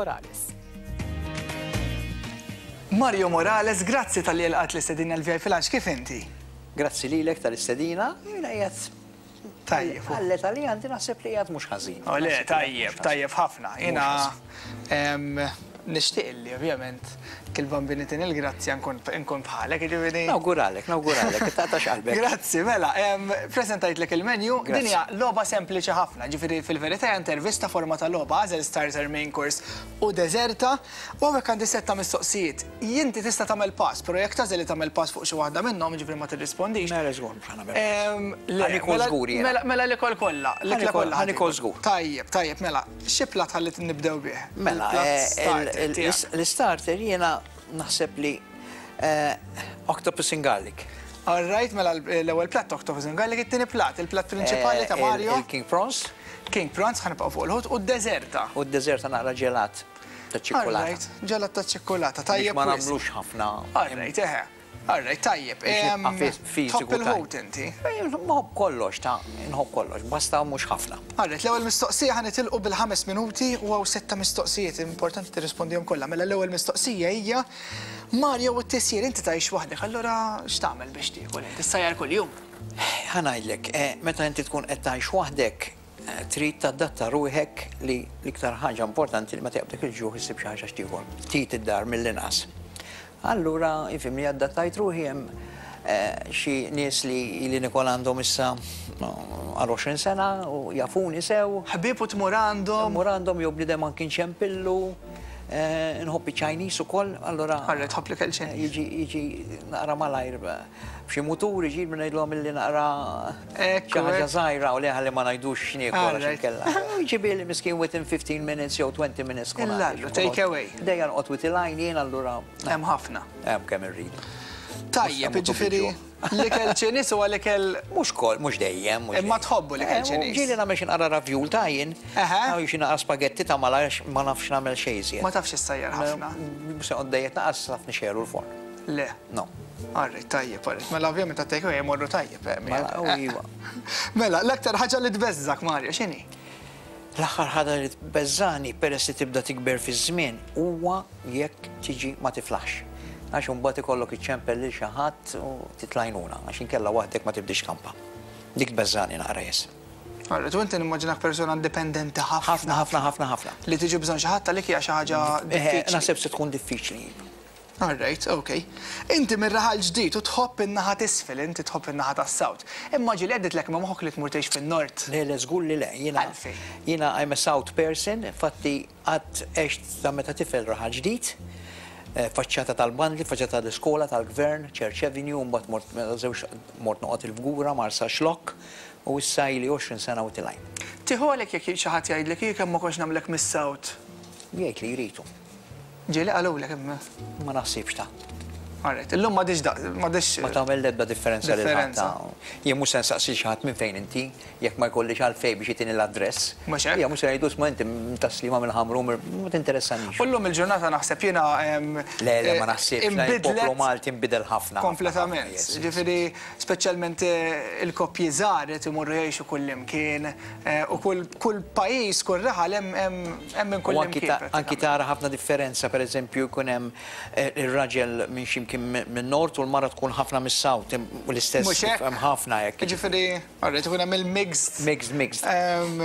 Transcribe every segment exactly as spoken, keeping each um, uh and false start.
Morales. Mario Morales, grazzi talli lqajt l-istedina l-V I P Lunch, kif inti? Grazzi lilek tal-istedina, jiena qiegħed. Tajjeb. Għallet għalli għandi naħseb li qiegħed mhux ħażin. O le, tajjeb, tajjeb ħafna. Jiena nixtieq li ovvjament kil-Bambin itini il-grazzja nkun bħalek, ġifieri. Nawguralek, nawguralek, taqtax qalbek. Grazzi, mela, prezentajtlek il-menu, din hija logħba sempliċi ħafna, ġifieri fil-verità hija intervista forma ta' logħba, għażel starter, main course u deżerta, u hawnhekk għandi setta mistoqsijiet. Inti tista' tagħmel pass, però jekk tagħżel li tagħmel pass fuq xi waħda minnhom, ġifieri ma tirrispondix. Mela żgur mhux ħa nagħmel. Le, Ħa nikol mela- żgur jiena. Mela mela l-ikol kollha, l-ikla kollha. Ħa nikol żgur. Tajjeb, tajjeb, mela, xi plat ħalli nibdew bih? Mela, Il-plat eh, starter il- il- tiegħek. l-starter jiena naħseb li eh, octopus and garlic. All right, mela l-ewwel plat octopus and garlic, it-tieni plat, il-plat prinċipali ta' Eh, il- Mario. Il-King prawns. King prawns, ħa nibqgħu fuq il-ħut u d-deżerta. U d-deżerta naqra ġelat ta' All ċikkulata. right, ġelat ta' ċikkulata, Biex tajjeb. ma wisq. nagħmlux ħafna. All right, eħe. All right, tajjeb. Biex Em, nibqa' fiżiku. Tħobb il-ħut inti. Nħobb kollox, ta' nħobb kollox, basta mhux ħafna. All right, l-ewwel mistoqsija, ħa nitilqu bil-ħames minuti u hawn setta mistoqsijiet, importanti tirrispondihom kollha. Mela l-ewwel mistoqsija hija: Mario u t-tisjir, inti tgħix waħdek, allura x'tagħmel biex tiekol? Inti ssajjar kuljum? Ħa ngħidlek, eh, meta inti tkun qed tgħix waħdek, eh, trid tadatta ruħek li l-iktar ħaġa importanti li meta jaqbdek il-ġuħ issib xi ħaġa x'tiekol. Tit id-dar mill-inqas. Allura, ifhimni, adattajt ruħi, hemm eh, xi nies li li nikol għandhom issa no, għal għoxrin sena u jafuni sew. Ħbieb u tmur għandhom. Mur għandhom jew bniedem anki nċempillu, eh, nħobb Chinese ukoll, allura. All right, tħobb l-ikel Chinese. Jiġi jiġi naqra malajr b'xi mutur jiġi minn ngħidlhom illi naqra Ekku, xi ħaġa ekku. żgħira u li ħalli ma ngħidux x'niekol għax Alright. inkella. Jiġi billi miskin within fifteen minutes jew twenty minutes kun Illallu, għandi. Take away. Dejja noqgħod with line jien allura. Hemm ħafna. Hemm kemm irrid. Tajjeb, Mhux ġifieri l-ikel Ċiniż huwa l-ikel Mhux kol, mhux dejjem, mhux Imma dejjem. tħobbu l-ikel Eh, Ċiniż. Ġieli nagħmel xi naqra ravjul ta' jien. Eħe. Jew xi naqra spagetti ta' malajr, ma nafx nagħmel xejn iżjed. Ma tafx issajjar ħafna. Mhux se dejjem naqas naf nixegħlu l-forn. Le. No. All right, tajjeb, all right. Mela ovvjament ta' take away jmorru tajjeb. eh, Mela, u iva. Mela, l-aktar ħaġa li tbeżżak, Mario, x'inhi? L-aħħar ħaġa li tbeżżani, peress li tibda tikber fi żmien, huwa jekk tiġi ma tiflaħx. Għax imbagħad ikollok iċċempel lil xi ħadd u titlajnuna, għax inkella waħdek ma tibdix kampa. Dik tbeżżani naqra, yes. All right, u inti nimmaġinak persona indipendenti ħafna. Ħafna, ħafna, ħafna, ħafna. Li tiġi bżonn xi ħadd għalik hija xi ħaġa Eh, diffiċli. Naħseb se tkun diffiċli. All right, okay. Inti mir-Raħal Ġdid u tħobb in-naħa t'isfel, inti tħobb in-naħa tas-South. Imma ġieli għadditlek minn moħħok li tmur tgħix fin-Nord? Le, le, żgur li le. Jiena, Għalfejn? jiena I'm a South person, infatti għad għext ta' meta tifel Raħal Ġdid, eh, faċċata tal-bandli, faċċata tal-iskola, tal-gvern, Church Avenue, mbagħad mort meta żewġ mort noqgħod il-Fgura, Marsaxlokk, u issa ili għoxrin sena u tilajn. Tieħu għalek jekk xi ħadd jgħidlek jekk kemm ma kontx nagħmlek mis-South? Jgħid li jritu. Ġieli qalulek imma. Ma naħsibx ta' All right, illum m'għadix da, m'għadix. Ma tagħmel l-ebda differenza lil ħadd. Differenza. ta' Jien mhux se nsaqsi xi ħadd minn fejn inti, jekk ma jkollix għalfejn biex jitini l-address. Mhux hekk? Ija mhux se ngħidu ma inti Tas-Sliema, mill-Ħamrun, ma tinteressanix. U llum il-ġurnata naħseb jiena em, Le, le, ma eh, naħsibx. inbidlet Il-poplu Malti nbidel ħafna. Kompletament. Yes, yes. Ġifieri, speċjalment eh, il-koppji żgħar qed imorru jgħixu kull imkien eh, u kull kull pajjiż, kull raħal hemm hemm hemm minn U kull anki imkien. ta- anki tara ħafna differenza, per eżempju, jkun hemm eh, ir-raġel minn ximkien minn nord u l-mara tkun ħafna mis-South, u l-istess Mhux hekk? hemm ħafna hekk. Ġifieri, all right, ikun hemm il-mixed Mixed, mixed. em,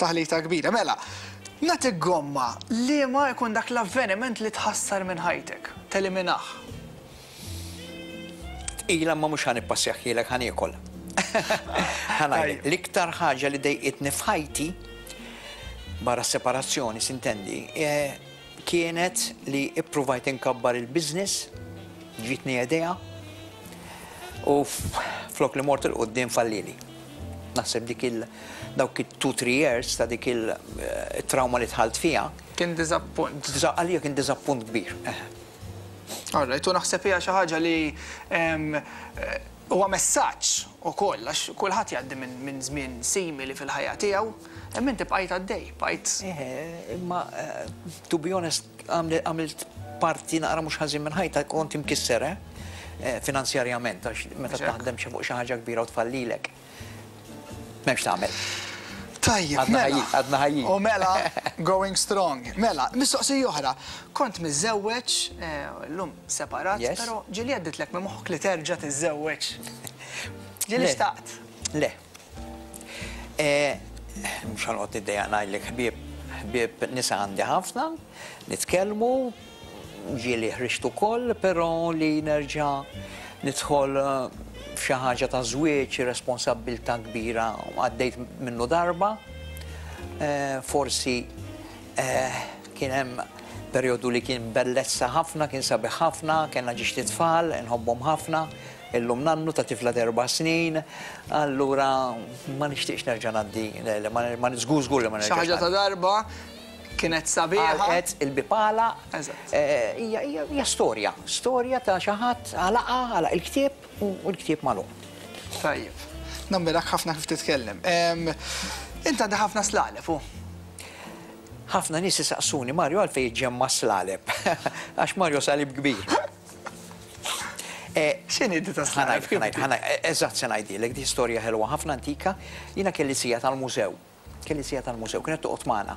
taħlita kbira. Mela, nagħtik gomma, li ma jkun dak l-avveniment li tħassar minn ħajtek, teliminah? Tqila ma mhux ħa nippassjahielek, ħa niekol. Ħa ngħidlek, l-iktar ħaġa li dejqitni f'ħajti, barra separazzjoni, sintendi, eh, kienet li ippruvajt inkabbar il-business, ġitni idea, u f- flok li mort 'il quddiem fallili. Naħseb dik il dawk il two three years ta' dik il-trauma li dħalt fija, Kien diżappunt. Diża- għalija kien diżappunt kbir. Eh. All right, u naħseb hija xi ħaġa li em, eh, huwa messaġġ ukoll għax kulħadd jgħaddi minn min żmien simili fil-ħajja tiegħu, imma inti bqajt għaddej, bqajt. Eh, imma eh, to be honest, għamli- għamilt parti naqra mhux ħażin minn ħajta kont imkisser, eh, eh, finanzjarjament, għax meta Mhux hekk. taħdem xi fuq xi ħaġa kbira u tfallilek. M'hemmx tagħmel. Tajjeb, Għadna mela. ħajjin, għadna ħajjin. U mela, going strong. Mela, mistoqsija oħra. Kont miżżewweġ, eh, llum separat, Yes. però ġieli għaddietlek minn moħħok li terġa' tiżżewweġ? Ġieli Le. xtaqt? Le. Eh, Mhux ħa noqgħod niddejjaq ngħidlek, ħbieb, ħbieb nisa għandi ħafna, nitkellmu, ġieli ħriġt ukoll, però li nerġa' nidħol eh, f'xi ħaġa ta' żwieġ, responsabbiltà kbira, għaddejt minnu darba. Eh, Forsi eh, kien hemm perjodu li kien bellezza ħafna, kien sabiħ ħafna, kellna żewġt itfal, nħobbhom ħafna, illum nannu ta' tifla erba' snin, allura ma nixtieqx nerġa' ngħaddi, le, le, ma ma żgur żgur li ma Xi nerġax ħaġa ta' ngħaddi. darba kienet sabiħa. Għalqet il-bipala, Eżatt. eh, hija hija hija storja, storja ta' xi ħadd għalaqa, għalaq il-ktieb u l-ktieb magħluq. Tajjeb. Nammirak ħafna kif titkellem. Em, Int għandi ħafna slaleb, u. Ħafna nies isaqsuni, "Mario, għalfejn iġġemma slaleb?" Għax Mario salib kbir. Eh, X'inhi di ta' slaleb? Ħa ngħid, ħa ngħid, ħa ngħid, eżatt se ngħidilek, di storja ħelwa ħafna antika. Jiena kelli zija tal-mużew. Kelli zija tal-mużew, kienet toqgħod magħna.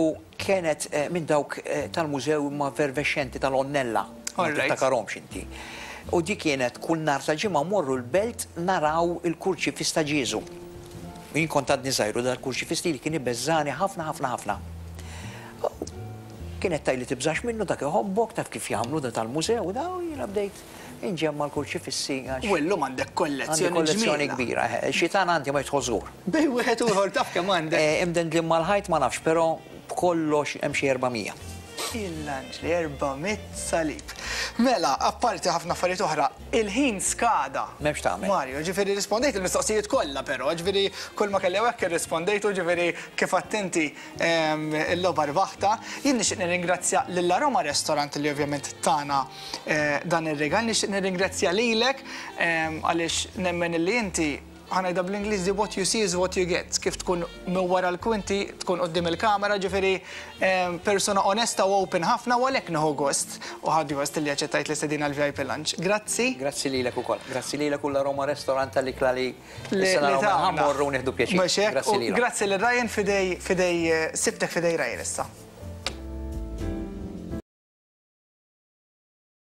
U kienet eh, minn dawk eh, tal-mużew ma fervexxenti tal-Onnella. Ma All right. tiftakarhomx inti. U di kienet kull nhar ta' ġimgħa morru l-belt naraw il-kurċifiss ta' Ġieżu. Jien kont għadni żgħir u dal-kurċifiss li kien ibeżżani ħafna ħafna ħafna. Kienet tgħidli, "Tibżax minnu, dak iħobbok, taf kif jagħmlu da tal-mużew," da u jiena bdejt inġemma l-kurċifissi għax U llum għandek għandi kollezzjoni kollezzjoni ġmiela. Kbira. eh, Xitan għandi ma jidħol żgur. Bejn wieħed u ieħor taf kemm għandek. Eh, Imdendlin mal-ħajt ma nafx, però b'kollox hemm xi erba' mija. Il-lanġli, erba' mitt salib. Mela, apparti ħafna affarijiet oħra, il-ħin skada. M'hemmx tagħmel. Mario, ġifieri rispondejt il-mistoqsijiet kollha però, ġifieri kull ma kelli hekk irrispondejtu, ġifieri kif attenti il-logħba rbaħta. Jien nixtieq nirringrazzja lil Aroma Restaurant li ovvjament tana eh, dan ir-rigal, nixtieq nirringrazzja lilek em, għaliex nemmen li inti, ħa ngħidha bl-Ingliż, "what you see is what you get." Kif tkun minn wara l-kwinti, tkun quddiem il-kamera, ġifieri em, persona onesta u open ħafna u għalhekk nieħu gost. U ħaddi gost li aċċettajt l-istedina l-V I P Lunch. Grazzi. Grazzi lilek ukoll. Grazzi lilek u l-Aroma Restaurant tal-ikla li Li issa li naraw tagħna. ħa mmorru nieħdu pjaċir. Mhux hekk? Grazzi U lilek. Grazzi lil Ryan fidej fidej eh, sibtek fidej Ryan issa.